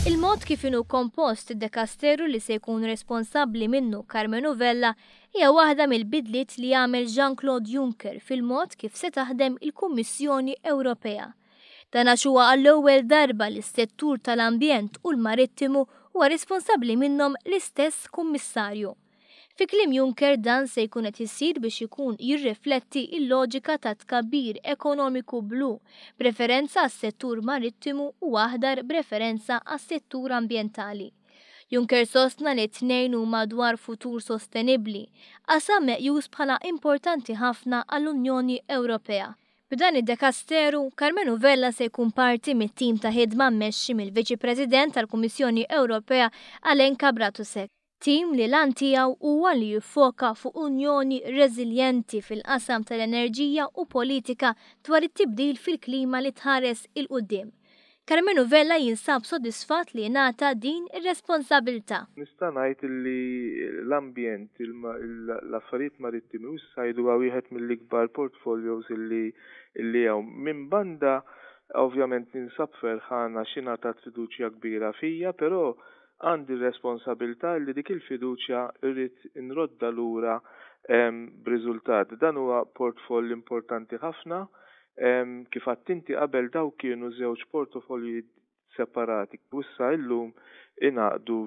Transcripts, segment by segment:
Il-mod kif inhu kompost id-dekasteru li se jkun responsabbli minnu Karmenu Vella hija waħda mill-bidliet li għamel Jean-Claude Juncker fil-mod kif se taħdem il-Kummissjoni Ewropea. Dan għax huwa għall-ewwel darba li s-settur tal-ambjent u l-marittimu huwa responsabbli minnhom l-istess kummissarju. Fi kliem Juncker dan se jkun qed isir biex ikun jirrifletti l-loġika ta' tkabbir ekonomiku blu, b'referenza għas-settur marittimu u aħdar b'referenza għas-settur ambjentali. Juncker sostna li t-tnejn huma dwar futur sostenibbli, qasam meqjus bħala importanti ħafna għall-Unjoni Ewropea. B'dan id-dekasteru, Karmenu Vella se jkun parti mit-tim ta' ħidma mmexxi mill-Viċi President tal-Kummissjoni Ewropea Alenka Bratusek. Tim li l-għan tiegħu huwa li jiffoka fuq Unjoni reżiljenti fil-qasam tal-enerġija u politika dwar it-tibdil fil-klima li tħares 'il quddiem. Karmenu Vella jinsab sodisfatt li ngħata din ir-responsabilità. Nista' ngħid li l-ambjent, l-affarijiet marittimi u s-sajd huwa wieħed mill-ikbar portfolios illi hawn. Minn banda ovvjament ninsab ferħan għax ingħatat fiduċja kbira fija, però għandi r-responsabilità li dik il-fiduċja rrid nroddha lura b'riżultat. Dan huwa portfoll importanti ħafna. Kif għedt inti qabel dawk kienu żewġ portofolji separati u issa illum ingħaqdu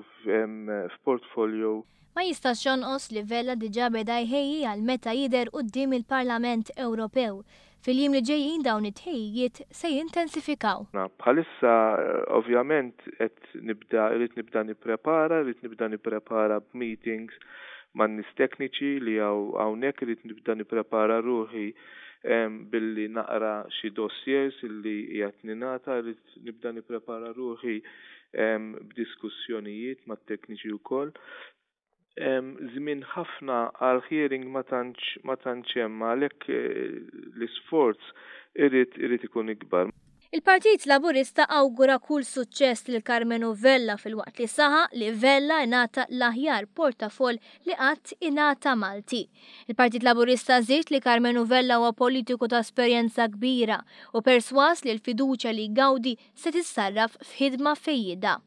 f'portfolio. Ma jistax jonqos li Vella diġà beda jħejji għal meta jidher quddiem il-Parlament Ewropew. Fil-jiem li ġejjin dawn it-tħejjijiet se jintensifikaw. Bħalissa ovvjament qed nibda irrid nibda nipprepara, irrid nibda nipprepara b'meetings man-nies tekniċi li hawn hawnhekk, irrid nibda nipprepara ruħi billi naqra xi dossiers illi qiegħed ningħata, irrid nibda nipprepara ruħi b'diskussjonijiet mat-tekniċi wkoll. Żmien ħafna għal hearing ma tantx ma tantx hemm għalhekk l-isforz irid irid ikun ikbar. Il-Partit Laburista awgura kull suċċess lil Karmenu Vella filwaqt li saħaq li Vella ingħata l-aħjar portafoll li qatt ingħata Malti. Il-Partit Laburista żied li Karmenu Vella huwa politiku ta' esperjenza kbira u persważ li l-fiduċja li jgawdi se tissarraf f'ħidma fejjieda.